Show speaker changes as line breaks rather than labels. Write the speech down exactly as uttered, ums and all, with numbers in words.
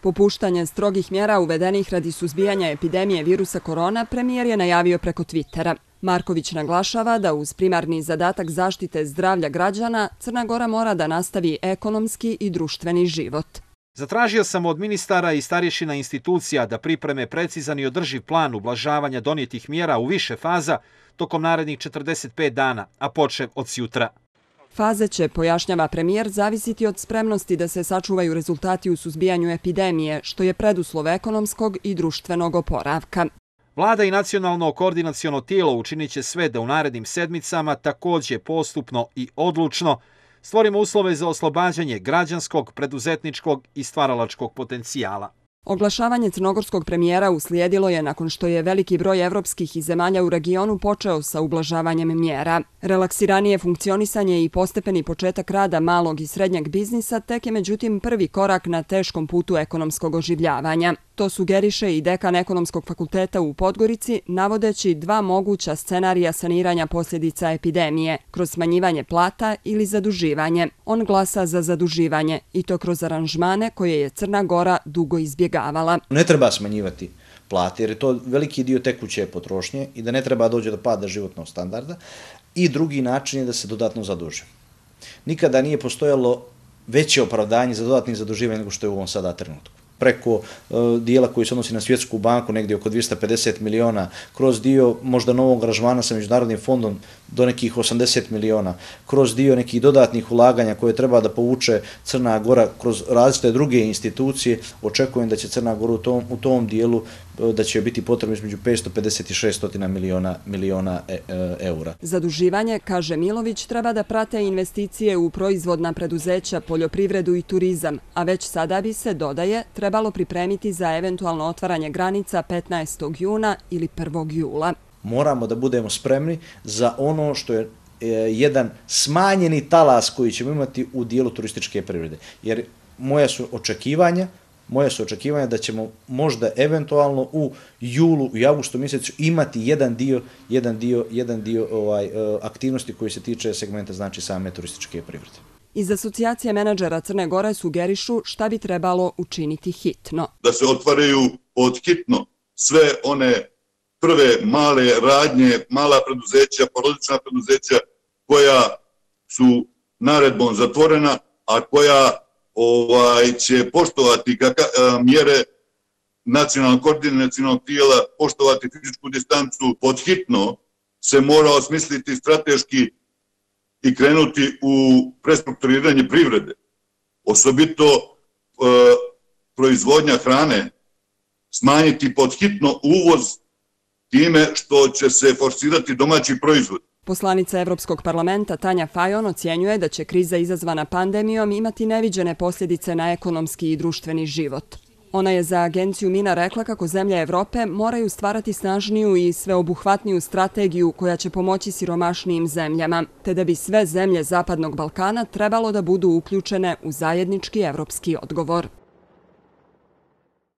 Popuštanje strogih mjera uvedenih radi suzbijanja epidemije virusa korona premijer je najavio preko Twittera. Marković naglašava da uz primarni zadatak zaštite zdravlja građana, Crna Gora mora da nastavi ekonomski i društveni život.
Zatražio sam od ministara i starješina institucija da pripreme precizan i održiv plan ublažavanja donijetih mjera u više faza tokom narednih četrdeset pet dana, a počev od sjutra.
Faze će, pojašnjava premijer, zavisiti od spremnosti da se sačuvaju rezultati u suzbijanju epidemije, što je preduslov ekonomskog i društvenog oporavka.
Vlada i nacionalno koordinaciono tijelo učinit će sve da u narednim sedmicama također postupno i odlučno stvorimo uslove za oslobađanje građanskog, preduzetničkog i stvaralačkog potencijala.
Oglašavanje crnogorskog premijera uslijedilo je nakon što je veliki broj evropskih i zemalja u regionu počeo sa ublažavanjem mjera. Relaksiranije funkcionisanje i postepeni početak rada malog i srednjeg biznisa tek je međutim prvi korak na teškom putu ekonomskog oživljavanja. To sugeriše i dekan Ekonomskog fakulteta u Podgorici, navodeći dva moguća scenarija saniranja posljedica epidemije, kroz smanjivanje plata ili zaduživanje. On glasa za zaduživanje, i to kroz aranžmane koje je Crna Gora dugo izbjegavala.
Ne treba smanjivati plate jer je to veliki dio tekuće potrošnje i da ne treba doći do pada životnog standarda. I drugi način je da se dodatno zaduži. Nikada nije postojalo veće opravdanje za dodatnim zaduživanjem nego što je u ovom sada trenutku. Preko uh, dijela koji se odnosi na Svjetsku banku, negdje oko dvjesto pedeset miliona, kroz dio možda novog aranžmana sa Međunarodnim fondom do nekih osamdeset miliona, kroz dio nekih dodatnih ulaganja koje treba da povuče Crna Gora kroz različite druge institucije. Očekujem da će Crna Gora u tom, u tom dijelu da će biti potrebno između petsto pedeset i šesto miliona, miliona e, e, eura.
Zaduživanje, kaže Milović, treba da prate investicije u proizvodna preduzeća, poljoprivredu i turizam, a već sada bi se, dodaje, trebalo pripremiti za eventualno otvaranje granica petnaestog juna ili prvog jula.
Moramo da budemo spremni za ono što je e, jedan smanjeni talas koji ćemo imati u dijelu turističke privrede. Jer moja su očekivanja Moje su očekivanja da ćemo možda eventualno u julu i avgustu mjesecu imati jedan dio, jedan dio, jedan dio ovaj, aktivnosti koji se tiče segmenta znači same turističke privrede.
Iz asocijacije menadžera Crne Gore sugerišu šta bi trebalo učiniti hitno.
Da se otvaraju pod hitno sve one prve male radnje, mala preduzeća, porodična preduzeća koja su naredbom zatvorena, a koja ovaj, će poštovati kaka, a, mjere nacionalnog koordinacionog tijela, poštovati fizičku distancu. Pod hitno se mora osmisliti strateški i krenuti u prestrukturiranje privrede. Osobito e, proizvodnja hrane, smanjiti pod hitno uvoz time što će se forsirati domaći proizvod.
Poslanica Evropskog parlamenta Tanja Fajon ocjenjuje da će kriza izazvana pandemijom imati neviđene posljedice na ekonomski i društveni život. Ona je za agenciju Mina rekla kako zemlje Evrope moraju stvarati snažniju i sveobuhvatniju strategiju koja će pomoći siromašnijim zemljama, te da bi sve zemlje Zapadnog Balkana trebalo da budu uključene u zajednički evropski odgovor.